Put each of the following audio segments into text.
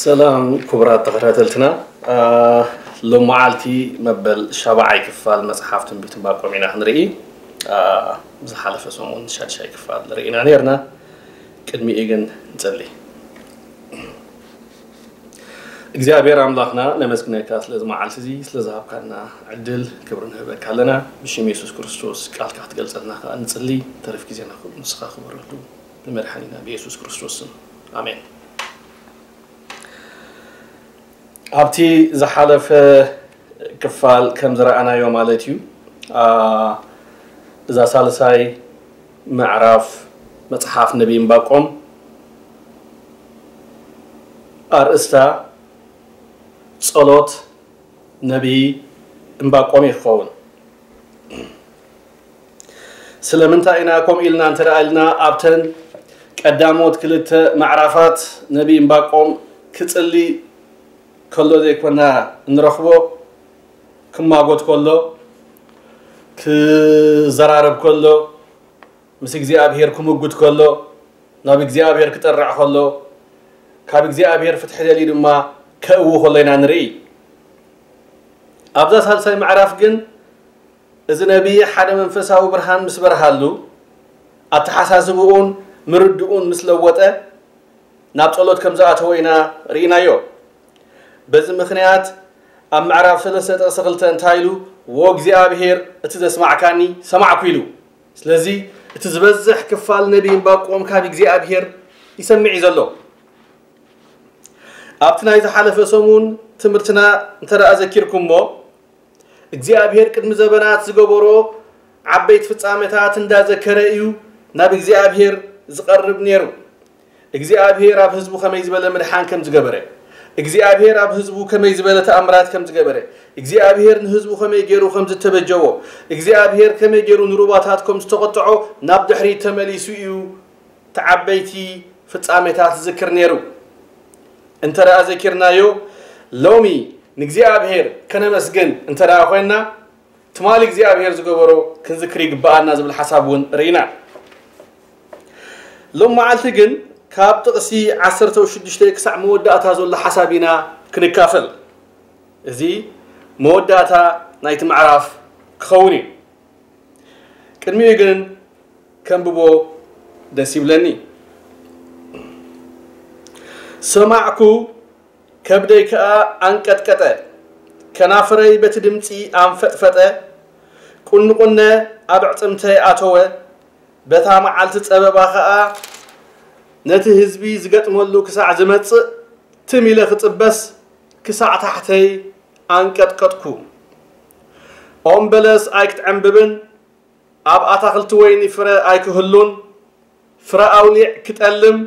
ሰላም ክቡራት ተኸታተልትና፣ ሎመዓልቲ መበል ሻብዓይ ክፋል መፅሓፍ ትንቢት ዕንባቆም ኢና ክንርኢ። ዝሓለፈ ሰሙን ሻድሻይ ክፋል ርኢና ነርና። ቅድሚኡ ግን ንፅሊ። እግዚኣብሔር ኣምላኽና ነመስግነካ ስለዚ መዓልቲ እዚ ስለዝሃብካና ዕድል ክብሪ ንህበካ ኣለና። ብሽም የሱስ ክርስቶስ ቃልካ ክትገልፀልና ከዓ ንፅሊ። ተረፍ ግዜና ንስኻ ክበረሉ ብመድሓኒና ብየሱስ ክርስቶስ ስም፣ ኣሜን። ኣብቲ ዝሓለፈ ክፋል ከም ዝረኣናዮ ማለት እዩ፣ እዛ ሳልሳይ ምዕራፍ መፅሓፍ ነቢይ እምባቆም ኣርእስታ ጸሎት ነቢይ እምባቆም ይኸውን። ስለምንታይ ኢና ከምኡ ኢልና እንተ ደኣ ኢልና ኣብተን ቀዳሞት ክልተ ምዕራፋት ነቢይ እምባቆም ክጽሊ ከሎ ዘይኮና እንረኽቦ፣ ክማጎት ከሎ፣ ክዘራረብ ከሎ፣ ምስ እግዚኣብሔር ክምጉት ከሎ፣ ናብ እግዚኣብሔር ክጠርዕ ከሎ፣ ካብ እግዚኣብሔር ፍትሒ ደልዩ ድማ ከእዊ ከሎ ኢና ንርኢ። ኣብዛ ሳልሳይ ምዕራፍ ግን እዚ ነቢይ ሓደ መንፈሳዊ ብርሃን ምስ በርሃሉ ኣተሓሳስብኡን ምርድኡን ምስ ለወጠ ናብ ጸሎት ከም ዝኣተወ ኢና ርኢናዮ። በዚ ምኽንያት ኣብ ምዕራፍ ሰለስተ ጥቕሲ ክልተ እንታይ ኢሉ? "ወእግዚኣብሔር እቲ ዘስማዕካኒ ሰማዕኩ" ኢሉ። ስለዚ እቲ ዝበዝሕ ክፋል ነቢይ እምባቆም ካብ እግዚኣብሔር ይሰምዕ እዩ ዘሎ። ኣብቲ ናይ ዝሓለፈ ሰሙን ትምህርትና እንተ ደኣ ዘኪርኩሞ፣ እግዚኣብሔር ቅድሚ ዘበናት ዝገበሮ ዓበይቲ ፍጻሜታት እንዳዘከረ እዩ ናብ እግዚኣብሔር ዝቐርብ ነይሩ። እግዚኣብሔር ኣብ ህዝቡ ከመይ ዝበለ ምድሓን ከም ዝገበረ፣ እግዚኣብሔር ኣብ ህዝቡ ከመይ ዝበለ ተኣምራት ከም ዝገበረ፣ እግዚኣብሔር ንህዝቡ ከመይ ገይሩ ከም ዝተበጀዎ፣ እግዚኣብሔር ከመይ ገይሩ ንሩባታት ከም ዝተቖጥዖ ናብ ድሕሪት ተመሊሱ እዩ እቲ ዓበይቲ ፍጻሜታት ዝዝክር ነይሩ። እንተ ደኣ ዘኪርናዮ፣ ሎሚ ንእግዚኣብሔር ከነመስግን እንተ ደኣ ኮይንና፣ ትማሊ እግዚኣብሔር ዝገበሮ ክንዝክር ይግብኣና ዝብል ሓሳብ እውን ርኢና። ሎም መዓልቲ ግን ካብ ጥቕሲ ዓሰርተ ሽዱሽተ ክሳዕ መወዳእታ ዘሎ ሓሳብ ኢና ክንካፈል። እዚ መወዳእታ ናይቲ ምዕራፍ ክኸውን እዩ። ቅድሚኡ ግን ከንብቦ ደስ ይብለኒ። ሰማዕኩ፣ ከብደይ ከኣ ኣንቀጥቀጠ፣ ከናፍረይ በቲ ድምጺ ኣንፈጥፈጠ፣ ቁንቁነ ኣብ ኣዕጽምተይ ኣተወ፣ በታ መዓልቲ ጸበባ ኸኣ ነቲ ህዝቢ ዝገጥመሉ ክሳዕ ዝመጽእ ትም ኢለ ክጽበስ ክሳዕ ታሕተይ ኣንቀጥቀጥኩ። ኦም በለስ ኣይክትዕምብብን ኣብ ኣታኽልቲ ወይኒ ፍረ ኣይክህሉን፣ ፍረ ኣውሊዕ ክጠልም፣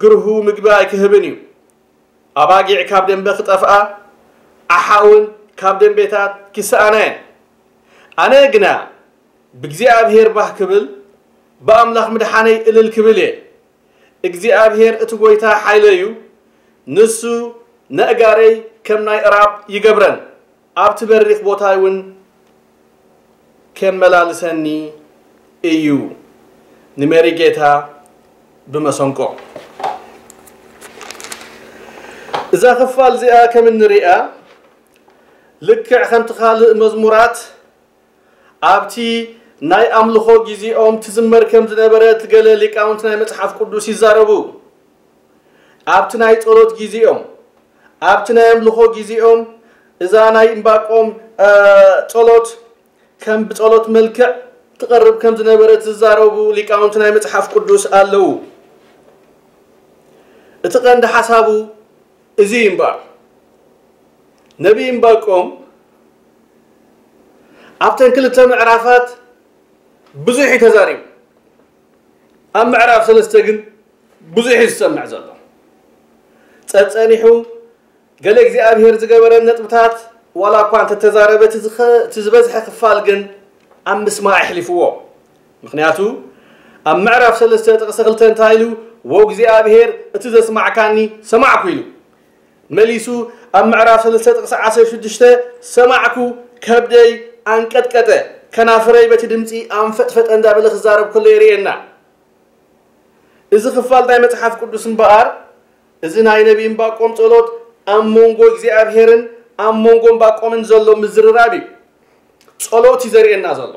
ግርሁ ምግቢ ኣይክህብን እዩ። ኣባጊዕ ካብ ደንበ ክጠፍኣ፣ ኣሓ እውን ካብ ደንቤታት ክሰኣና እየን። ኣነ ግና ብእግዚኣብሔር ባህ ክብል፣ ብኣምላኽ ምድሓነይ እልል ክብል እየ። እግዚኣብሔር እቲ ጐይታ ሓይለይ እዩ፣ ንሱ ነእጋረይ ከም ናይ እራብ ይገብረን፣ ኣብቲ በሪኽ ቦታይ እውን ኬመላልሰኒ እዩ። ንሜሪ ጌታ ብመሰንቆ። እዛ ክፋል እዚኣ ከም እንሪኣ፣ ልክዕ ከምቲ ካልእ መዝሙራት፣ ኣብቲ ናይ ኣምልኾ ግዜኦም ትዝመር ከም ዝነበረት ገለ ሊቃውንቲ ናይ መጽሓፍ ቅዱስ ይዛረቡ። ኣብቲ ናይ ጸሎት ግዜኦም፣ ኣብቲ ናይ ኣምልኾ ግዜኦም እዛ ናይ እምባቆም፣ እ፣ ጸሎት ከም ብጸሎት መልክዕ ትቐርብ ከም ዝነበረት ዝዛረቡ ሊቃውንቲ ናይ መጽሓፍ ቅዱስ ኣለዉ። እቲ ቀንዲ ሓሳቡ እዚ እዩ እምበኣር። ነቢይ እምባቆም ኣብተን ክልተ ምዕራፋት ብዙሕ እዩ ተዛሪቡ። ኣብ ምዕራፍ ሰለስተ ግን ብዙሕ እዩ ዝሰምዕ ዘሎ። ጸጸኒሑ ገለ እግዚኣብሔር ዝገበረን ነጥብታት ዋላ እኳ እንተተዛረበ፣ እቲ ዝኸ-፣ እቲ ዝበዝሐ ክፋል ግን ኣብ ምስማዕ ኣሕሊፍዎ። ምኽንያቱ ኣብ ምዕራፍ ሰለስተ ጥቕሲ ክልተ እንታይ ኢሉ? "ወእግዚኣብሔር እቲ ዘስማዕካኒ ሰማዕኩ" ኢሉ። መሊሱ ኣብ ምዕራፍ ሰለስተ ጥቕሲ ዓሰርተ ሽዱሽተ "ሰማዕኩ፣ ከብደይ ኣንቀጥቀጠ፣ ከናፍረይ በቲ ድምጺ ኣንፈጥፈጠ" እንዳበለ ክዛረብ ከሎ የርእየና። እዚ ክፋል ናይ መጽሓፍ ቅዱስ እምበኣር እዚ ናይ ነቢ እምባቆም ጸሎት ኣብ መንጎ እግዚኣብሄርን ኣብ መንጎ እምባቆምን ዘሎ ምዝርራብ እዩ። ጸሎት እዩ ዘርእየና ዘሎ።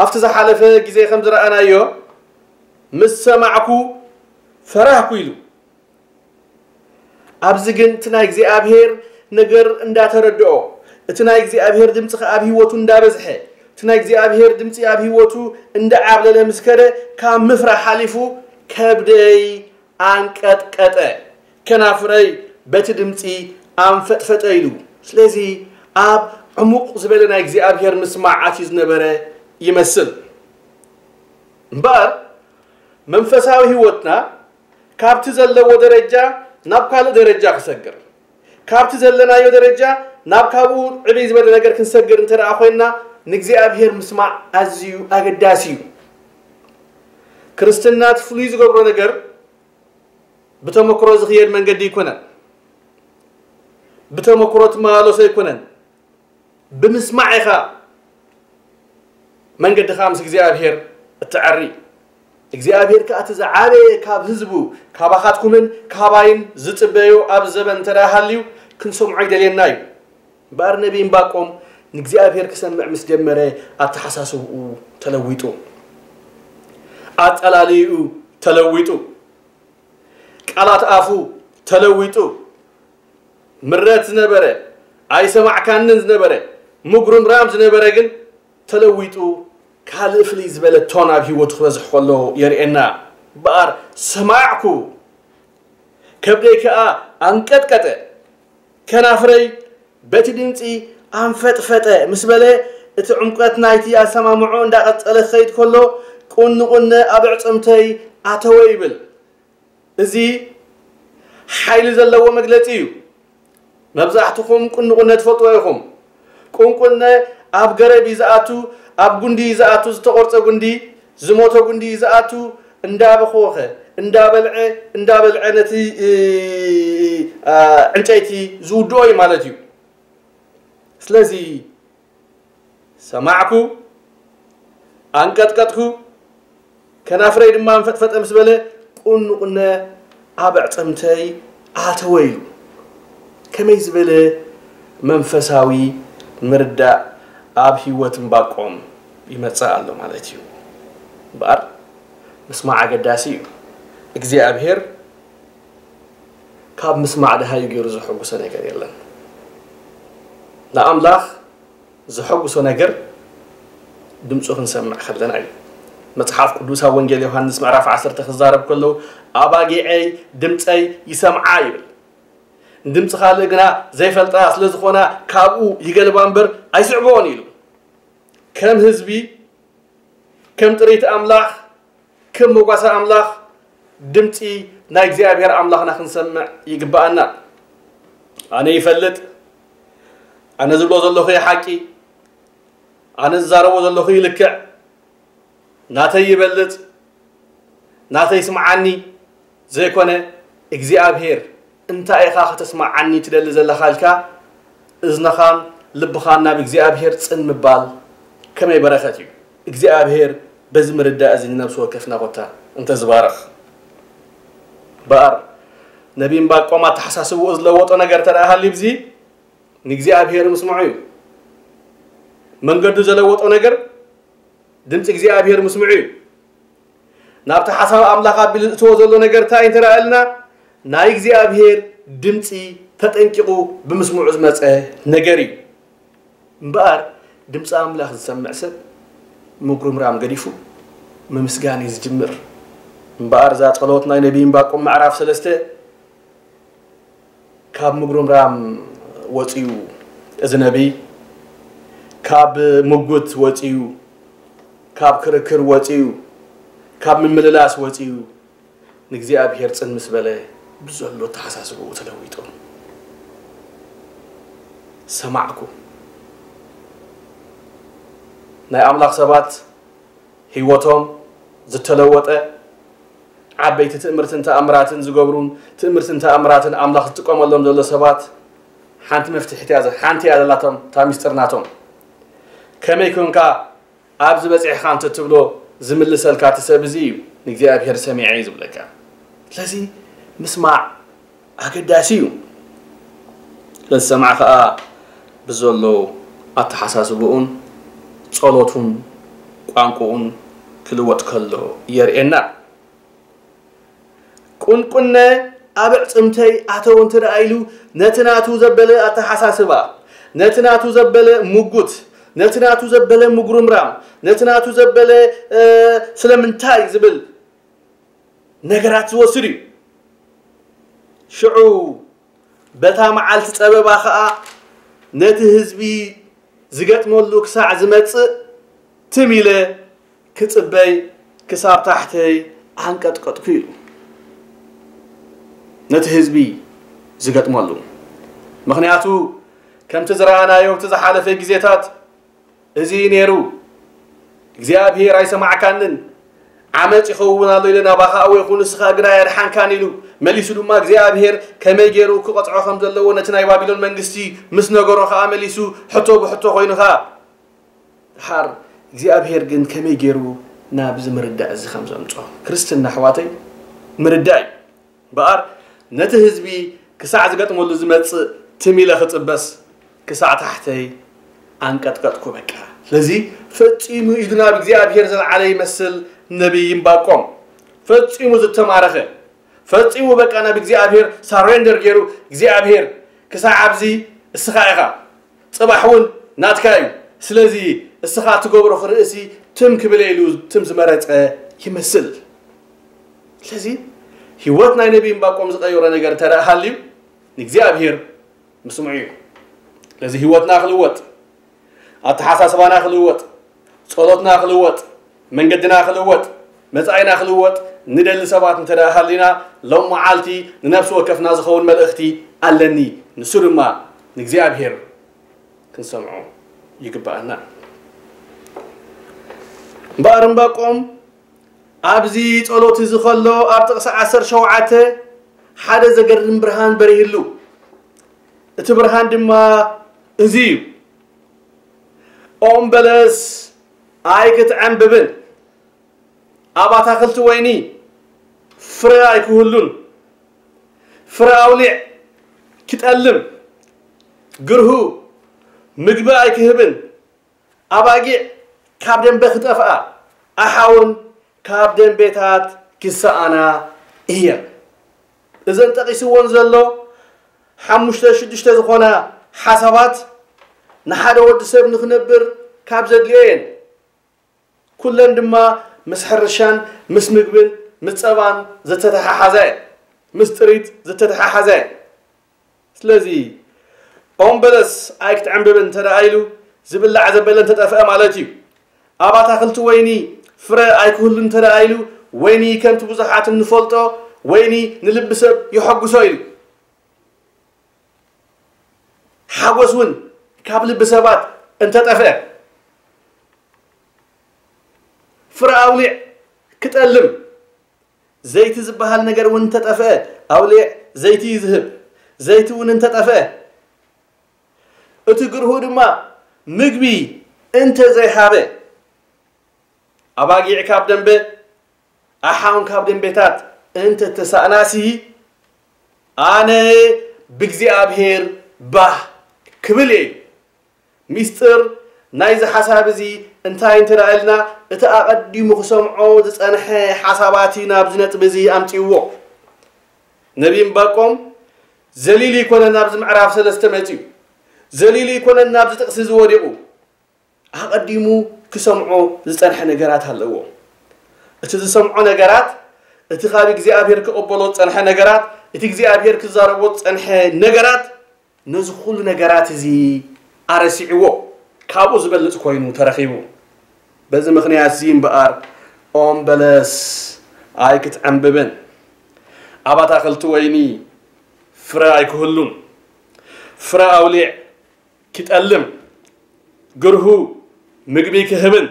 ኣብቲ ዝሓለፈ ግዜ ከም ዝረኣናዮ፣ ምስ ሰማዕኩ ፈራህኩ ኢሉ። ኣብዚ ግን እቲ ናይ እግዚኣብሄር ነገር እንዳተረድኦ፣ እቲ ናይ እግዚኣብሄር ድምፂ ከኣ ኣብ ህይወቱ እንዳበዝሐ፣ እቲ ናይ እግዚኣብሄር ድምፂ ኣብ ህይወቱ እንዳዓብለለ ምስ ከደ፣ ካብ ምፍራሕ ሓሊፉ ከብደይ ኣንቀጥቀጠ፣ ከናፍረይ በቲ ድምፂ ኣንፈጥፈጠ ኢሉ። ስለዚ ኣብ ዕሙቕ ዝበለ ናይ እግዚኣብሄር ምስማዕ ኣትዩ ዝነበረ ይመስል። እምበኣር መንፈሳዊ ህይወትና ካብቲ ዘለዎ ደረጃ ናብ ካልእ ደረጃ ክሰግር፣ ካብቲ ዘለናዮ ደረጃ ናብ ካብኡ ዕብይ ዝበለ ነገር ክንሰግር እንተ ደኣ ኮይንና፣ ንእግዚኣብሔር ምስማዕ ኣዝዩ ኣገዳሲ እዩ። ክርስትና እቲ ፍሉይ ዝገብሮ ነገር ብተመክሮ ዝኽየድ መንገዲ ኣይኮነን። ብተመክሮ ትመላለሶ ኣይኮነን። ብምስማዕ ኢኻ መንገድኻ ምስ እግዚኣብሔር እትዐሪ። እግዚኣብሔር ከኣ እቲ ዝዓበየ ካብ ህዝቡ፣ ካባኻትኩምን ካባይን ዝጽበዮ ኣብ ዘበን እንተ ደኣ ሃልዩ ክንሰምዖ ይደልየና እዩ። እምበኣር ነቢይ እምባቆም ንእግዚኣብሔር ክሰምዕ ምስ ጀመረ ኣተሓሳስብኡ ተለዊጡ፣ ኣጸላልይኡ ተለዊጡ፣ ቃላት ኣፉ ተለዊጡ፣ ምረት ዝነበረ፣ ኣይሰማዕካንን ዝነበረ፣ ምጉርምራም ዝነበረ ግን ተለዊጡ ካልእ ፍልይ ዝበለ ቶን ኣብ ህይወቱ ክበዝሕ ከሎ የርእየና። እምበኣር ሰማዕኩ፣ ከብደይ ከኣ ኣንቀጥቀጠ፣ ከናፍረይ በቲ ድምጺ ኣንፈጥፈጠ ምስ በለ፣ እቲ ዕምቆት ናይቲ ኣሰማምዖ እንዳቐጸለ ክኸይድ ከሎ፣ ቁንቁነ ኣብ ኣዕጽምተይ ኣተወ ይብል። እዚ ሓይሊ ዘለዎ መግለጺ እዩ። መብዛሕትኹም ቁንቁነ ትፈልጥዎ ኢኹም። ቁንቁነ ኣብ ገረብ እዩ ዝኣቱ፣ ኣብ ጉንዲ እዩ ዝኣቱ፣ ዝተቖርጸ ጉንዲ፣ ዝሞተ ጉንዲ እዩ ዝኣቱ፣ እንዳበኸወኸ፣ እንዳበልዐ፣ እንዳበልዐ ነቲ፣ እ፣ እ፣ እ፣ እ፣ እ፣ እ፣ ዕንጨይቲ ዝውድኦ እዩ ማለት እዩ። ስለዚ ሰማዕኩ፣ ኣንቀጥቀጥኩ፣ ከናፍረይ ድማ እንፈጥፈጠ ምስ በለ፣ ቁንቁነ ኣብ ኣዕጽምተይ ኣተወ ኢሉ። ከመይ ዝበለ መንፈሳዊ ምርዳእ ኣብ ህይወት እምባቆም ይመጽእ ኣሎ ማለት እዩ። እምበኣር ምስማዕ ኣገዳሲ እዩ። እግዚኣብሔር ካብ ምስማዕ ደሃዩ ገይሩ ዘሐጉሶ ነገር የለን። ንኣምላኽ ዘሐጉሶ ነገር ድምፁ ክንሰምዕ ከለና እዩ። መጽሓፍ ቅዱስ ኣብ ወንጌል ዮሃንስ ምዕራፍ ዓሰርተ ክዛረብ ከሎ፣ "ኣባጊዐይ ድምፀይ ይሰምዓ" ይብል። ንድምፂ ካልእ ግና ዘይፈልጣ ስለ ዝኾና ካብኡ ይገልባ እምበር ኣይስዕብኦን ኢሉ። ከም ህዝቢ፣ ከም ጥሪት ኣምላኽ፣ ከም መጓሰ ኣምላኽ ድምፂ ናይ እግዚኣብሔር ኣምላኽና ክንሰምዕ ይግብኣና። ኣነ ይፈልጥ፣ ኣነ ዝብሎ ዘለኹ እዩ ሓቂ፣ ኣነ ዝዛረቦ ዘለኹ እዩ ልክዕ፣ ናተይ ይበልጽ፣ ናተይ ስምዓኒ ዘይኮነ፣ እግዚኣብሔር እንታይ ኢኻ ከተስምዓኒ ትደሊ ዘለኻ ኢልካ እዝንኻን ልብኻን ናብ እግዚኣብሔር ጽን ምባል ከመይ በረኸት እዩ። እግዚኣብሔር በዚ ምርዳእ እዚ ንነብሲ ወከፍና ኮታ እንተዝባርኽ። እምበኣር ነቢ እምባቆም ኣተሓሳስብኡ ዝለወጦ ነገር እንተ ደኣ ሃልዩ፣ እዚ ንእግዚኣብሔር ምስምዑ እዩ። መንገዱ ዘለወጦ ነገር ድምፂ እግዚኣብሔር ምስምዑ እዩ። ናብቲ ሓሳብ ኣምላኽ ኣቢሉ ዝእትዎ ዘሎ ነገር እንታይ እንተ ደኣ ኢልና፣ ናይ እግዚኣብሔር ድምፂ ተጠንቂቑ ብምስምዑ ዝመፀ ነገር እዩ። እምበኣር ድምፂ ኣምላኽ ዝሰምዕ ሰብ ምጉርምራም ገዲፉ ምምስጋን እዩ ዝጅምር። እምበኣር እዛ ጸሎት ናይ ነቢይ እምባቆም ምዕራፍ ሰለስተ ካብ ምጉርምራም ወጺኡ፣ እዚ ነቢይ ካብ ምጉት ወጺኡ፣ ካብ ክርክር ወጺኡ፣ ካብ ምምልላስ ወጺኡ፣ ንእግዚኣብሔር ጽን ምስ በለ፣ ብዘሎ ኣተሓሳስብኡ ተለዊጡ። ሰማዕኩ። ናይ ኣምላኽ ሰባት ህይወቶም ዝተለወጠ፣ ዓበይቲ ትእምርትን ተኣምራትን ዝገብሩን ትእምርትን ተኣምራትን ኣምላኽ ዝጥቀመሎም ዘሎ ሰባት፣ ሓንቲ መፍትሒት እያ ዘ-፣ ሓንቲ እያ ዘላቶም፣ እታ ሚስጥር ናቶም። ከመይ ኮንካ ኣብዚ በጺሕካ እንተትብሎ ዝምልሰልካ እቲ ሰብ እዚ እዩ። ንእግዚኣብሔር ሰሚዐ እዩ ዝብለካ። ስለዚ ምስማዕ ኣገዳሲ እዩ። ለዝሰምዐ ኸኣ ብዘሎ ኣተሓሳስብኡን ጸሎቱን ቋንቋኡን ክልወጥ ከሎ የርእየና። ቁንቁነ ኣብ ኣዕጽምተይ ኣተወ እንተ ደኣ ኢሉ፣ ነቲ ናቱ ዘበለ ኣተሓሳስባ፣ ነቲ ናቱ ዘበለ ምጉት፣ ነቲ ናቱ ዘበለ ምጉርምራም፣ ነቲ ናቱ ዘበለ ስለምንታይ ዝብል ነገራት ዝወስድ እዩ። ሽዑ በታ መዓልቲ ጸበባ ኸኣ ነቲ ህዝቢ ዝገጥመሉ ክሳዕ ዝመጽእ ትም ኢለ ክጽበይ ክሳብ ታሕተይ ኣንቀጥቀጥኩ ኢሉ። ነቲ ህዝቢ ዝገጥመሉ። ምኽንያቱ ከምቲ ዝረኣናዮ ኣብቲ ዝሓለፈ ግዜታት እዚ ነይሩ። እግዚኣብሔር ኣይሰማዕካንን፣ ዓመጽ ይኸውን ኣሎ ኢለ ናባኻ ኣወይኹ፣ ንስኻ ግና ኣየድሓንካን ኢሉ። መሊሱ ድማ እግዚኣብሔር ከመይ ገይሩ ክቐጽዖ ከም ዘለዎ ነቲ ናይ ባቢሎን መንግስቲ ምስ ነገሮ ኸኣ መሊሱ ሕቶ ብሕቶ ኮይኑ ኸኣ ድሓር እግዚኣብሔር ግን ከመይ ገይሩ ናብዚ ምርዳእ እዚ ከም ዘምጾ ክርስትና ኣሕዋተይ ምርዳእ እዩ። እምበኣር ነቲ ህዝቢ ክሳዕ ዝገጥመሉ ዝመጽእ ትም ኢለ ክጽበስ ክሳዕ ታሕተይ ኣንቀጥቀጥኩ በቃ። ስለዚ ፈጺሙ ኢዱ ናብ እግዚኣብሔር ዘልዓለ ይመስል ነቢይ እምባቆም። ፈጺሙ ዝተማረኸ፣ ፈጺሙ በቃ ናብ እግዚኣብሔር ሳሬንደር ገይሩ እግዚኣብሔር ክሳዕ ኣብዚ እስኻ ኢኻ ጽባሕ እውን ናትካ እዩ። ስለዚ እስኻ ትገብሮ ክርእሲ ትም ክብል ኢሉ ትም ዝመረጸ ይመስል። ስለዚ ህይወት ናይ ነቢይ እምባቆም ዝቐየሮ ነገር እንተ ደኣ ሃልዩ ንእግዚኣብሔር ምስምዑ እዩ። ስለዚ ህይወትና ክልወጥ፣ ኣተሓሳስባና ክልወጥ፣ ጸሎትና ክልወጥ፣ መንገድና ክልወጥ፣ መጻኢና ክልወጥ ንደሊ ሰባት እንተ ደኣ ሃሊና ሎም መዓልቲ ንነፍሲ ወከፍና ዝኸውን መልእኽቲ ኣለኒ። ንሱ ድማ ንእግዚኣብሔር ክንሰምዖ ይግብኣና። እምበኣር እምባቆም ኣብዚ ጸሎት እዚ ከሎ ኣብ ጥቕሲ ዓሰርተ ሸውዓተ ሓደ ዘገርም ብርሃን በሪህሉ። እቲ ብርሃን ድማ እዚ እዩ። ኦም በለስ ኣይክትዕንብብን፣ ኣብ ኣታኽልቲ ወይኒ ፍረ ኣይክህሉን፣ ፍረ ኣውሊዕ ክጠልም፣ ግርሁ ምግቢ ኣይክህብን፣ ኣባጊዕ ካብ ደንበ ክጠፍኣ፣ ኣሓውን ካብ ደንቤታት ክሰኣና እየን። እዘን ጠቒስወን ዘሎ ሓሙሽተ ሽዱሽተ ዝኾና ሓሳባት ንሓደ ወዲ ሰብ ንኽነብር ካብ ዘድልዮ እየን። ኩለን ድማ ምስ ሕርሻን ምስ ምግብን ምስ ጸባን ዝተተሓሓዛ እየን። ምስ ጥሪት ዝተተሓሓዛ እየን። ስለዚ ኦም በለስ ኣይክትዕንብብን እንተ ደኣ ኢሉ ዝብላዕ ዘበለ እንተጠፍአ ማለት እዩ። ኣብ ኣታኽልቲ ወይኒ ፍረ ኣይክህሉ እንተ ደኣ ኢሉ ወይኒ ከምቲ ብዙሓት እንፈልጦ ወይኒ ንልቢ ሰብ የሐጉሶ ኢሉ። ሓጎስ እውን ካብ ልቢ ሰባት እንተጠፍአ፣ ፍረ ኣውሊዕ ክጠልም፣ ዘይቲ ዝበሃል ነገር እውን እንተጠፍአ፣ ኣውሊዕ ዘይቲ እዩ ዝህብ። ዘይቲ እውን እንተጠፍአ፣ እቲ ግርሁ ድማ ምግቢ እንተዘይሃበ፣ ኣባጊዕ ካብ ደንበ ኣሓውን ካብ ደንቤታት እንተተሳእናሲ፣ ኣነ ብእግዚኣብሔር ባህ ክብል እየ። ሚስጥር ናይዚ ሓሳብ እዚ እንታይ እንተ ደኣ ኢልና፣ እቲ ኣቐዲሙ ክሰምዖ ዝጸንሐ ሓሳባት እዩ ናብዚ ነጥቢ እዚ ኣምጺእዎ። ነቢይ እምባቆም ዘሊሉ ኣይኮነን ናብዚ ምዕራፍ ሰለስተ መጺኡ። ዘሊሉ ኣይኮነን ናብዚ ጥቕሲ እዚ ወዲቑ። ኣቐዲሙ ክሰምዖ ዝጸንሐ ነገራት ኣለዎ። እቲ ዝሰምዖ ነገራት፣ እቲ ካብ እግዚኣብሔር ክቕበሎ ዝጸንሐ ነገራት፣ እቲ እግዚኣብሔር ክዛረቦ ዝጸንሐ ነገራት፣ ነዚ ኩሉ ነገራት እዚ ኣረሲዕዎ፣ ካብኡ ዝበልጽ ኮይኑ ተረኺቡ። በዚ ምኽንያት እዚ እምበኣር ኦም በለስ ኣይክትዕንብብን፣ ኣብ ኣታኽልቲ ወይኒ ፍረ ኣይክህሉን፣ ፍረ ኣውሊዕ ክጠልም፣ ግርሁ ምግቢ ክህብን፣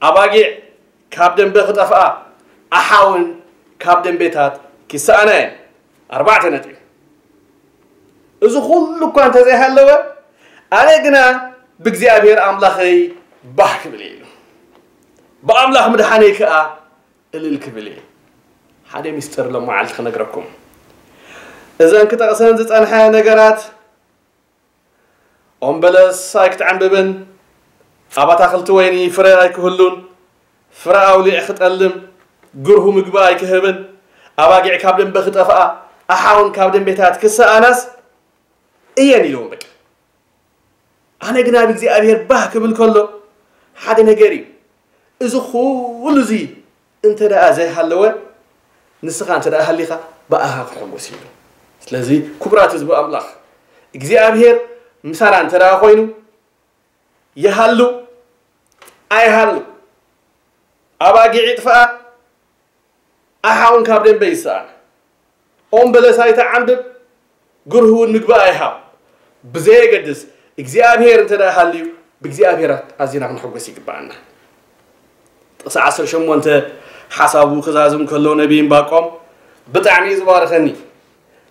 ኣባጊዕ ካብ ደንበ ክጠፍኣ፣ ኣሓውን ካብ ደንቤታት ክሰኣና እየን። ኣርባዕተ ነጥቢ። እዚ ኩሉ እኳ እንተዘይሃለወ፣ ኣነ ግና ብእግዚኣብሔር ኣምላኸይ ባህ ክብል እየ ኢሉ። ብኣምላኽ ምድሓነይ ከኣ እልል ክብል እየ። ሓደ ሚስጥር ሎም መዓልቲ ክነግረኩም። እዘን ክጠቕሰን ዝጸንሐ ነገራት፣ ኦም በለስ ኣይክትዕምብብን፣ ኣብ ኣታኽልቲ ወይኒ ፍረ ኣይክህሉን፣ ፍረ ኣውሊዕ ክጠልም፣ ግርሁ ምግቢ ኣይክህብን፣ ኣባጊዕ ካብ ደንበ ክጠፍኣ፣ ኣሓውን ካብ ደንቤታት ክሰኣናስ እየን ኢልዎም። በቃ ኣነ ግና ብእግዚኣብሔር ባህ ክብል ከሎ ሓደ ነገር እዩ። እዚ ኩሉ እዚ እንተ ደኣ ዘይሃለወ፣ ንስኻ እንተ ደኣ ሃሊኻ፣ ብኣኻ ክሕጎስ ኢሉ። ስለዚ ክቡራት ህዝቢ ኣምላኽ፣ እግዚኣብሔር ምሳና እንተ ደኣ ኮይኑ፣ ይሃሉ ኣይሃሉ፣ ኣባጊዕ ይጥፍኣ፣ ኣሓውን ካብ ደንበ ይሰኣን፣ ኦም በለስ ኣይትዓምብብ፣ ግርሁ እውን ምግቢ ኣይሃብ። ብዘየገድስ እግዚኣብሔር እንተ ደኣ ሃልዩ፣ ብእግዚኣብሔር ኣዚና ክንሕጎስ ይግብኣና። ጥቕሲ ዓሰርተ ሸሞንተ ሓሳቡ ክዛዝም ከሎ ነቢይ እምባቆም ብጣዕሚ እዩ ዝባርኸኒ።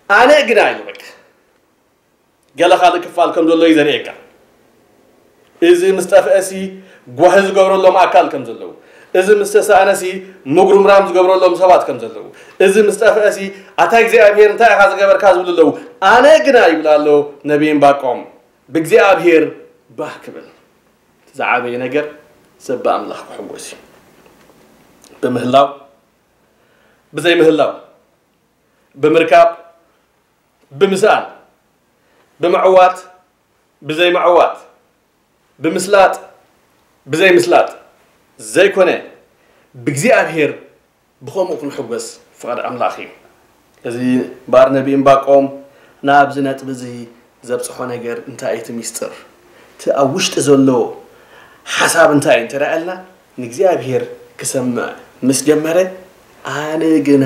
ኣነ ግና ኢሉ በቃ ገለ ካልእ ክፋል ከም ዘሎ እዩ ዘርእየካ። እዚ ምስ ጠፍአሲ ጓሂ ዝገብረሎም ኣካል ከም ዘለዉ፣ እዚ ምስ ተሳእነሲ ምጉርምራም ዝገብረሎም ሰባት ከም ዘለዉ፣ እዚ ምስ ጠፍአሲ ኣታ እግዚኣብሔር እንታይ ኢኻ ዝገበርካ ዝብሉ ኣለዉ። ኣነ ግና ይብል ኣሎ ነቢይ እምባቆም ብእግዚኣብሔር ባህ ክብል። ዝዓበየ ነገር ሰብ ብኣምላኽ ክሕጎስ እዩ። ብምህላው፣ ብዘይምህላው፣ ብምርካብ፣ ብምስኣን፣ ብምዕዋት፣ ብዘይምዕዋት፣ ብምስላጥ፣ ብዘይምስላጥ ዘይኮነ፣ ብእግዚኣብሔር ብኸምኡ ክንሕጎስ ፍቓድ ኣምላኽ እዩ። እዚ እምበኣር ነቢ እምባቆም ናብዚ ነጥቢ እዚ ዘብጽሖ ነገር እንታይ እዩ? እቲ ሚስጥር፣ እቲ ኣብ ውሽጢ ዘሎ ሓሳብ እንታይ እዩ እንተ ደኣ ኢልና፣ ንእግዚኣብሔር ክሰምዕ ምስ ጀመረ፣ ኣነ ግና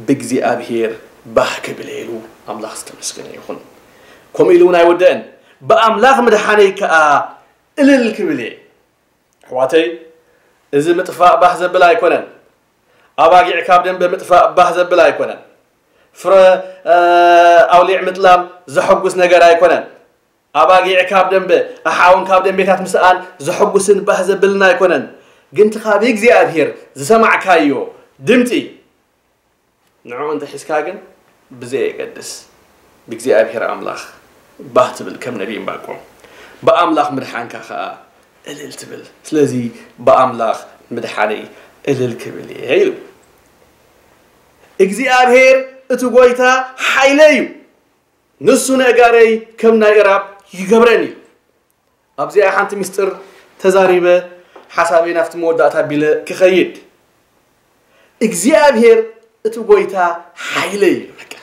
ብእግዚኣብሔር ባህ ክብል እየ ኢሉ፣ ኣምላኽ ዝተመስገነ ይኹን። ከምኡ ኢሉ እውን ኣይወደአን፣ ብኣምላኽ ምድሓነይ ከኣ እልል ክብል እየ። ኣሕዋተይ፣ እዚ ምጥፋእ ባህ ዘብል ኣይኮነን። ኣባጊዕ ካብ ደንበ ምጥፋእ ባህ ዘብል ኣይኮነን። ፍረ ኣውሊዕ ምጥላም ዘሐጉስ ነገር ኣይኮነን። ኣባጊዕ ካብ ደንበ ኣሓውን ካብ ደንቤታት ምስኣን ዘሐጉስን ባህ ዘብልን ኣይኮነን። ግን እቲ ካብ እግዚኣብሔር ዝሰማዕካዮ ድምፂ ንዕኡ እንተ ሒዝካ ግን ብዘየገድስ ብእግዚኣብሔር ኣምላኽ ባህ ትብል ከም ነቢይ እምባቆም። ብኣምላኽ ምድሓንካ ኸኣ እልል ትብል። ስለዚ ብኣምላኽ ምድሓነይ እልል ክብል እየ ኢሉ። እግዚኣብሔር እቲ ጐይታ ሓይለይ እዩ፣ ንሱ ነእጋረይ ከም ናይ እራብ ይገብረን እዩ። ኣብዚኣ ሓንቲ ምስጢር ተዛሪበ ሓሳበይ ናብቲ መወዳእታ ኣቢለ ክኸይድ። እግዚኣብሔር እቲ ጐይታ ሓይለይ እዩ። በቃ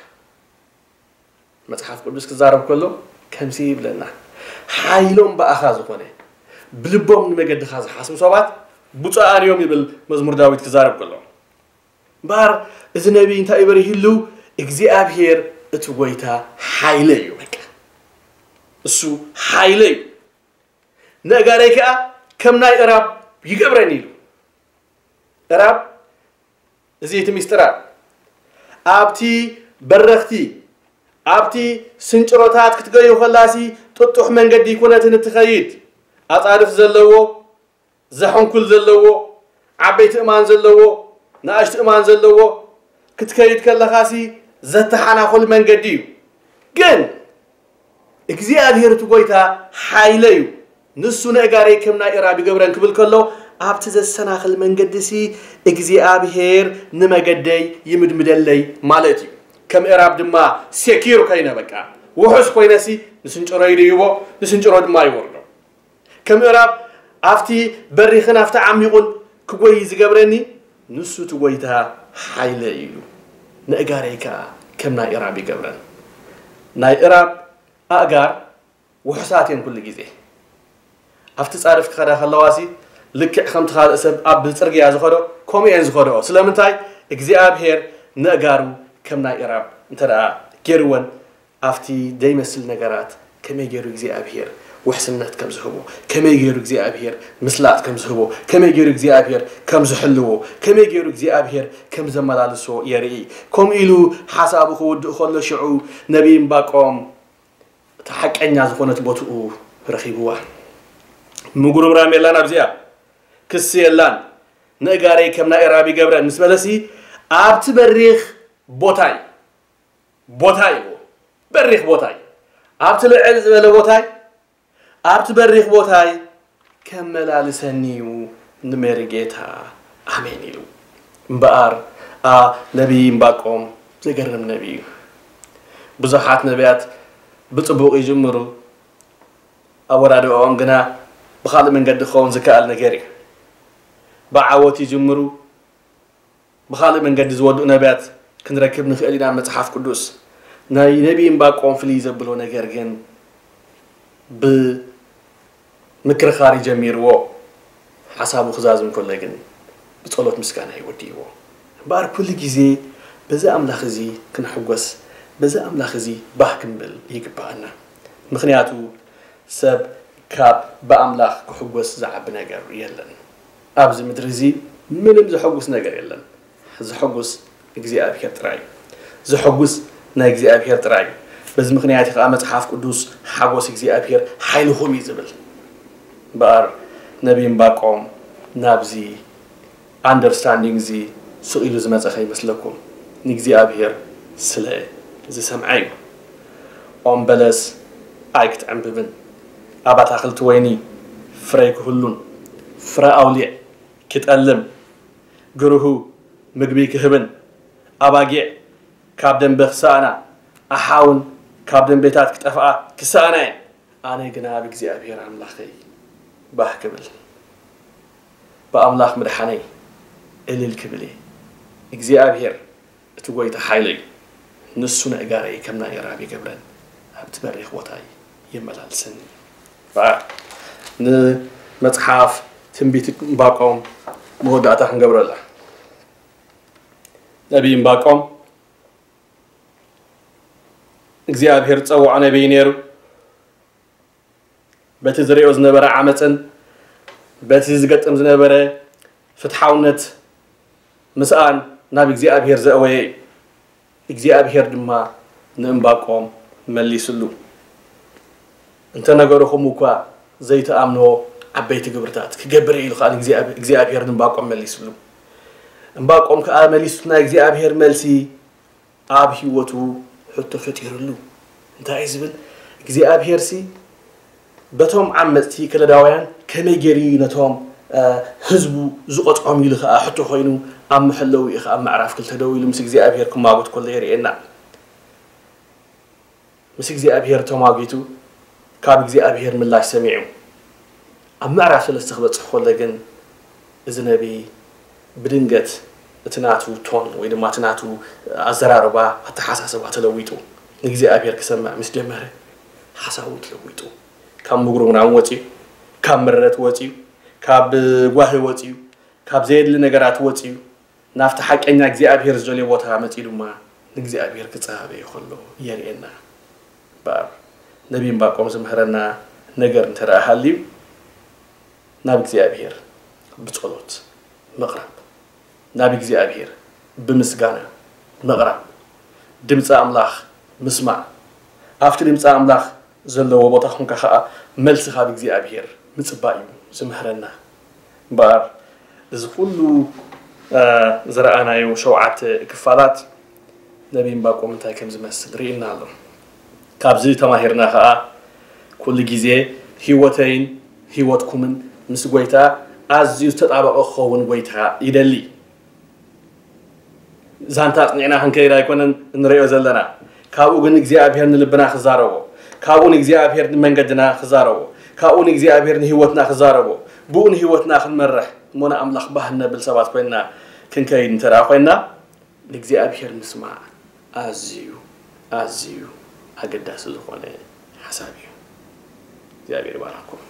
መጽሓፍ ቅዱስ ክዛረብ ከሎ ከምዚ ይብለና፣ ሓይሎም ብኣኻ ዝኾነ፣ ብልቦም ንመገድኻ ዝሓስቡ ሰባት ብፁዓን እዮም ይብል መዝሙር ዳዊት ክዛረብ ከሎ። እምበኣር እዚ ነቢይ እንታይ እዩ በሪህሉ? እግዚኣብሔር እቲ ጐይታ ሓይለይ እዩ። በቃ እሱ ሓይለይ እዩ፣ ነእጋረይ ከኣ ከም ናይ እራብ ይገብረን ኢሉ። እራብ እዚ እቲ ሚስጥራት ኣብቲ በረኽቲ ኣብቲ ስንጭሮታት ክትገዩ ከላሲ ጥጡሕ መንገዲ ይኩነትን እትኸይድ ኣጻድፍ ዘለዎ ዘሐንኩል ዘለዎ ዓበይቲ እማን ዘለዎ ንኣሽቱ እማን ዘለዎ ክትከይድ ከለኻሲ ዘተሓናኹል መንገዲ እዩ። ግን እግዚኣብሔር እቲ ጐይታ ሓይለ እዩ፣ ንሱ ነእጋረይ ከም ናይ እራብ ይገብረን ክብል ከሎ ኣብቲ ዘሰናኽል መንገዲ ሲ እግዚኣብሔር ንመገደይ ይምድምደለይ ማለት እዩ። ከም እራብ ድማ ሴኪር ኮይነ በቃ ውሑስ ኮይነ ሲ ንስንጭሮ ይድይቦ ንስንጭሮ ድማ ይወርዶ። ከም እራብ ኣብቲ በሪኽን ኣብቲ ዓሚቑን ክጎይ ዝገብረኒ ንሱ እቲ ጐይታ ሓይለ እዩ። ነእጋረይ ከኣ ከም ናይ እራብ ይገብረን። ናይ እራብ ኣእጋር ውሑሳት እየን ኩሉ ግዜ። ኣብቲ ጻድፍ ክኸዳ ከለዋሲ ልክዕ ከምቲ ካልእ ሰብ ኣብ ጽርግያ ዝኸዶ ከምኡ እየን ዝኸድኦ። ስለምንታይ እግዚኣብሔር ነእጋሩ ከም ናይ እራብ እንተ ደኣ ገይርወን ኣብቲ ዘይመስል ነገራት ከመይ ገይሩ እግዚኣብሔር ውሕስነት ከም ዝህቦ፣ ከመይ ገይሩ እግዚኣብሔር ምስላጥ ከም ዝህቦ፣ ከመይ ገይሩ እግዚኣብሔር ከም ዝሕልዎ፣ ከመይ ገይሩ እግዚኣብሔር ከም ዘመላልሶ የርኢ። ከምኡ ኢሉ ሓሳቡ ክውድእ ከሎ ሽዑ ነቢይ እምባቆም እታ ሓቀኛ ዝኾነት ቦትኡ ረኺብዋ። ምጉርምራም የላን ኣብዚኣ፣ ክሲ የላን፣ ነእጋረይ ከም ናይ ራብ ይገብረን ምስ በለሲ ኣብቲ በሪኽ ቦታይ ቦታይ ይዎ በሪኽ ቦታይ ኣብቲ ልዕል ዝበለ ቦታይ ኣብቲ በሪኽ ቦታይ ከመላልሰኒ እዩ ንመሪ ጌታ ኣሜን ኢሉ። እምበኣር ኣ ነቢይ እምባቆም ዘገርም ነቢይ እዩ። ብዙሓት ነቢያት ብጽቡቕ ይጅምሩ፣ ኣወዳድኦም ግና ብኻልእ መንገዲ ክኸውን ዝከኣል ነገር እዩ። ብዓወት ይጅምሩ፣ ብኻልእ መንገዲ ዝወድኡ ነቢያት ክንረክብ ንኽእል ኢና። መጽሓፍ ቅዱስ ናይ ነቢይ እምባቆም ፍልይ ዘብሎ ነገር ግን ብምክርኻር ጀሚርዎ ሓሳቡ ክዛዝም ከሎ ግን ብጸሎት ምስጋና ይወድይዎ። እምበኣር ኩሉ ግዜ በዚ ኣምላኽ እዚ ክንሕጎስ፣ በዚ ኣምላኽ እዚ ባህ ክንብል ይግብኣና። ምኽንያቱ ሰብ ካብ ብኣምላኽ ክሕጎስ ዝዓቢ ነገር የለን። ኣብዚ ምድሪ እዚ ምንም ዘሐጉስ ነገር የለን። ዘሐጉስ እግዚኣብሔር ጥራይ እዩ። ዘሐጉስ ናይ እግዚኣብሔር ጥራይ እዩ። በዚ ምኽንያት እዩ ከዓ መጽሓፍ ቅዱስ ሓጎስ እግዚኣብሔር ሓይልኹም እዩ ዝብል። እምበኣር ነቢይ እምባቆም ናብዚ ኣንደርስታንዲንግ እዚ ስቕ ኢሉ ዝመጸ ከይመስለኩም፣ ንእግዚኣብሔር ስለ ዝሰምዐ እዩ። ኦም በለስ ኣይክትዕምብብን፣ ኣብ ኣታኽልቲ ወይኒ ፍረ ኣይክህሉን፣ ፍረ ኣውሊዕ ክጠልም፣ ግርሁ ምግቢ ክህብን፣ ኣባጊዕ ካብ ደንበ ክሰኣና፣ ኣሓውን ካብ ደንቤታት ክጠፍኣ ክሰኣና እየን። ኣነ ግና ኣብ እግዚኣብሔር ኣምላኸይ ባህ ክብል፣ ብኣምላኽ ምድሓነይ እልል ክብል እየ። እግዚኣብሔር እቲ ጐይታ ሓይለይ እዩ። ንሱ ነእጋረይ ከም ናይ ራብ ይገብረን፣ ኣብቲ በሪኽ ቦታይ የመላልሰኒ። በኣ ንመጽሓፍ ትንቢት እምባቆም መወዳእታ ክንገብረላ። ነቢይ እምባቆም እግዚኣብሔር ዝጸውዖ ነቢይ ነይሩ። በቲ ዝርእዮ ዝነበረ ዓመፅን በቲ ዝገጥም ዝነበረ ፍትሓውነት ምስኣን ናብ እግዚኣብሔር ዘእወየ እዩ። እግዚኣብሔር ድማ ንእምባቆም መሊስሉ። እንተነገርኹም እኳ ዘይትኣምንዎ ዓበይቲ ግብርታት ክገብር እየ ኢሉ ከዓ እግዚኣብሔር ንእምባቆም መሊስሉ። እምባቆም ከዓ መሊሱ ናይ እግዚኣብሔር መልሲ ኣብ ህይወቱ ሕቶ ፈጢሩሉ። እንታይ እዩ ዝብል? እግዚኣብሔር ሲ በቶም ዓመፅቲ ከለዳውያን ከመይ ገይሩ እዩ ነቶም ህዝቡ ዝቆፅዖም ኢሉ ከዓ ሕቶ ኮይኑ ኣብ መሐለዊ እዩ ከዓ ምዕራፍ ክልተ ደው ኢሉ ምስ እግዚኣብሔር ክማጎት ከሎ የርእየና። ምስ እግዚኣብሔር ተማጊቱ ካብ እግዚኣብሔር ምላሽ ሰሚዑ ኣብ ምዕራፍ ሰለስተ ክበፅሕ ከሎ ግን እዚ ነቢይ ብድንገት እቲ ናቱ ቶን ወይ ድማ እቲ ናቱ ኣዘራርባ ኣተሓሳስባ ተለዊጡ ንእግዚኣብሔር ክሰምዕ ምስ ጀመረ ሓሳቡ ተለዊጡ ካብ ምጉርምራም ወፅዩ ካብ ምረት ወፅዩ ካብ ጓሂ ወፅዩ ካብ ዘየድሊ ነገራት ወፅዩ ናብቲ ሓቀኛ እግዚኣብሔር ዝደልዮ ቦታ መፂኡ ድማ ንእግዚኣብሔር ክፀሃበ ከሎ የርእየና። እምበኣር ነቢይ እምባቆም ዝምህረና ነገር እንተ ደኣ ሃልዩ ናብ እግዚኣብሔር ብጸሎት ምቕራብ፣ ናብ እግዚኣብሔር ብምስጋና ምቕራብ፣ ድምፂ ኣምላኽ ምስማዕ፣ ኣብቲ ድምፂ ኣምላኽ ዘለዎ ቦታ ኾንካ ኸዓ መልሲ ካብ እግዚኣብሔር ምፅባእ እዩ ዝምህረና። እምበኣር እዚ ኩሉ ዝረኣናዮ ሸውዓተ ክፋላት ነቢይ እምባቆም እንታይ ከም ዝመስል ርኢና ኣሎ። ካብዚ ተማሂርና ኸዓ ኩሉ ግዜ ህይወተይን ህይወትኩምን ምስ ጎይታ ኣዝዩ ዝተጣበቐ ክኸውን ጎይታ ይደሊ። ዛንታ ኣጽኒዕና ክንከይድ ኣይኮነን እንሪኦ ዘለና። ካብኡ ግን እግዚኣብሔር ንልብና ክዛረቦ፣ ካብኡ ንእግዚኣብሔር ንመንገድና ክዛረቦ፣ ካብኡ ንእግዚኣብሔር ንህይወትና ክዛረቦ፣ ብኡ ንህይወትና ክንመርሕ እሞ ንኣምላኽ ባህ እነብል ሰባት ኮይንና ክንከይድ እንተ ደኣ ኮይንና ንእግዚኣብሔር ምስማዕ ኣዝዩ ኣዝዩ ኣገዳሲ ዝኾነ ሓሳብ እዩ። እግዚኣብሔር ይባርኽኩም።